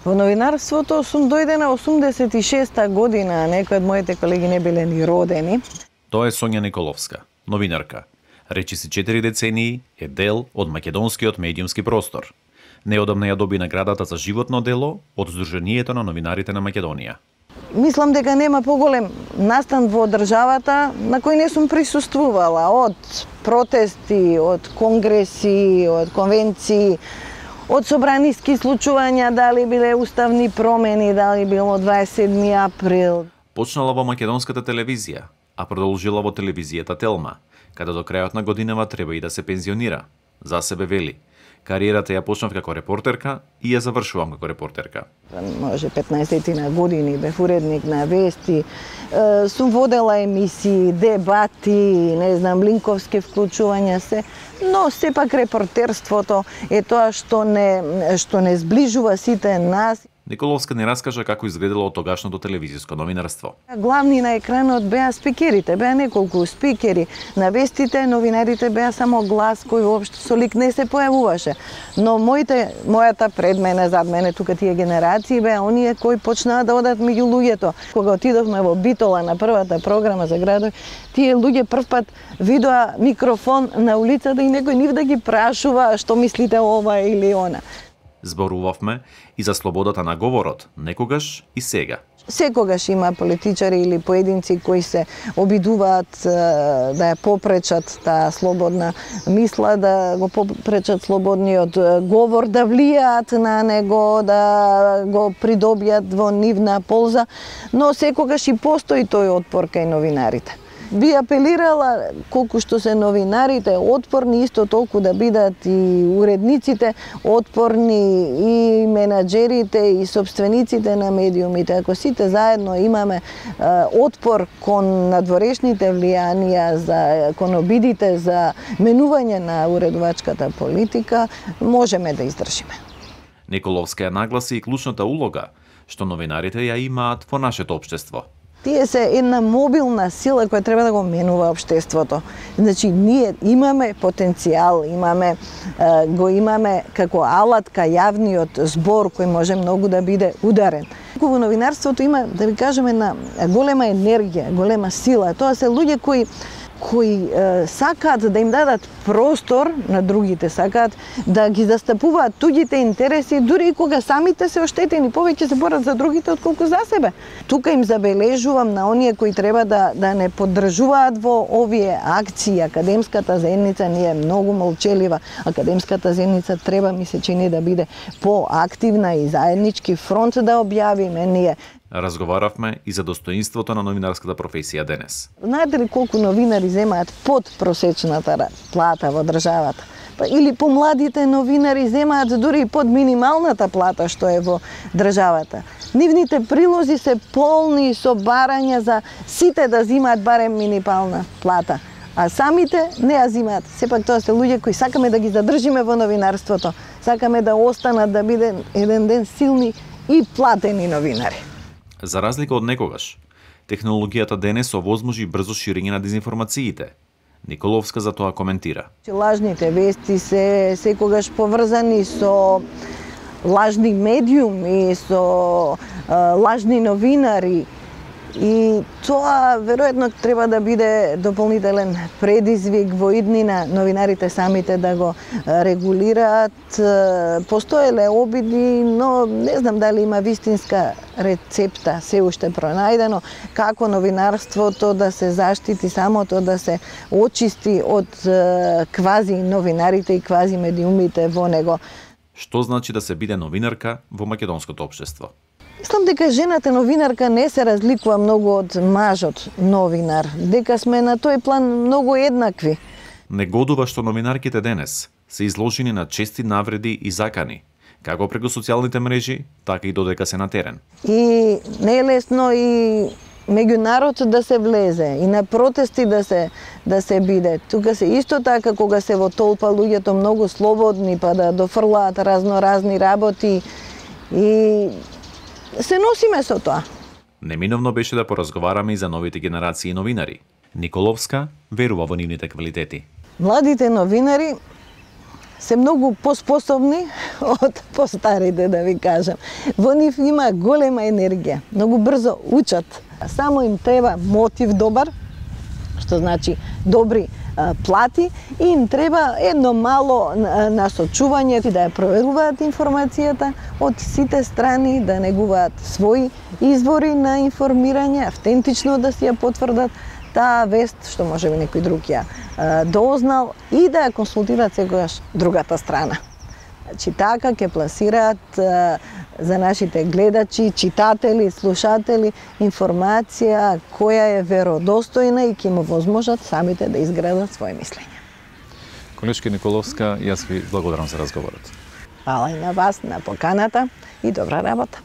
Во новинарството сум дојдена 86-та година, некои од моите колеги не биле ни родени. Тоа е Сонја Николовска, новинарка. Речиси 4 децении е дел од македонскиот медиумски простор. Неодамна ја доби наградата за животно дело од Сдруженијето на новинарите на Македонија. Мислам дека нема поголем настан во државата на кој не сум присуствувала, од протести, од конгреси, од конвенции, од собраниски случувања, дали биле уставни промени, дали било 27 април. Почнала во македонската телевизија, а продолжила во телевизијата Телма, каде до крајот на годинава треба и да се пензионира. За себе вели: кариерата ја почнав како репортерка и ја завршувам како репортерка. Може 15 на години бев уредник на вести, сум водела емисии, дебати, не знам, линковски вклучувања се, но сепак репортерството е тоа што не сближува сите нас. Николовска не раскажа како изгледало тогашното телевизиско новинарство. Главни на екранот беа спикерите, беа неколку спикери. На вестите новинарите беа само глас кој воопшто со лик не се појавуваше. Но мојата пред мене, зад мене, тука тие генерации беа оние кои почнаа да одат меѓу луѓето. Кога отидовме во Битола на првата програма за градови, тие луѓе првпат видоа микрофон на улицата и некој нив да ги прашува што мислите ова или она. Зборувавме и за слободата на говорот, некогаш и сега. Секогаш има политичари или поединци кои се обидуваат да ја попречат таа слободна мисла, да го попречат слободниот говор, да влијаат на него, да го придобијат во нивна полза, но секогаш и постои тој отпор кај новинарите. Би апелирала колку што се новинарите отпорни, исто толку да бидат и уредниците отпорни, и менаџерите, и собствениците на медиумите. Ако сите заедно имаме отпор кон надворешните влијанија, кон обидите за менување на уредувачката политика, можеме да издржиме. Николовска ја нагласи и клучната улога што новинарите ја имаат во нашето општество. Тие се една мобилна сила која треба да го менува општеството. Значи, ние имаме потенцијал, го имаме како алатка јавниот збор кој може многу да биде ударен. Во новинарството има, да ви кажеме, една голема енергија, голема сила. Тоа се луѓе кои сакаат да им дадат простор на другите, сакаат да ги застапуваат туѓите интереси, дури и кога самите се оштетени, повеќе се борат за другите отколку за себе. Тука им забележувам на оние кои треба да не поддржуваат во овие акции. Академската заедница не е многу молчелива. Академската заедница треба, ми се чини, да биде поактивна и заеднички фронт да објавиме ние. Разговаравме и за достоинството на новинарската професија денес. Знаете ли колку новинари земаат под просечната плата во државата? Или помладите новинари земаат дури и под минималната плата што е во државата. Нивните прилози се полни со барања за сите да земаат барем минимална плата. А самите не ја земаат. Сепак тоа се луѓе кои сакаме да ги задржиме во новинарството. Сакаме да останат да биде еден ден силни и платени новинари. За разлика од некогаш, технологијата денес овозможи брзо ширење на дезинформациите. Николовска за тоа коментира. Лажните вести се секогаш поврзани со лажни медиуми, со лажни новинари. И тоа веројатно треба да биде дополнителен предизвик во иднина, новинарите самите да го регулираат. Постоеле обиди, но не знам дали има вистинска рецепта се уште пронајдено како новинарството да се заштити, самото да се очисти од квази новинарите и квази медиумите во него. Што значи да се биде новинарка во македонското општество? Мислам дека жената новинарка не се разликува многу од мажот новинар, дека сме на тој план многу еднакви. Негодува што новинарките денес се изложени на чести навреди и закани, како преку социјалните мрежи, така и додека се на терен. И не е лесно и меѓу народ да се влезе, и на протести да се биде. Тука се исто така кога се во толпа луѓето многу слободни, па да дофрлаат разни работи и се носиме со тоа. Неминовно беше да поразговараме и за новите генерации новинари. Николовска верува во нивните квалитети. Младите новинари се многу поспособни од постарите, да ви кажам. Во нив има голема енергија, многу брзо учат. Само им треба мотив добар, што значи добри плати, и им треба едно мало насочување да ја проверуваат информацијата од сите страни, да негуваат своји извори на информирање, автентично да си ја потврдат таа вест, што може би некој друг ја дознал, и да ја консултираат секогаш другата страна. Значи, така ќе пласираат за нашите гледачи, читатели, слушатели информација која е веродостојна и ќе му возможат самите да изградат своje мислење. Колешки Николовска, јас ви благодарам за разговорот. Фала и на вас, на поканата, и добра работа.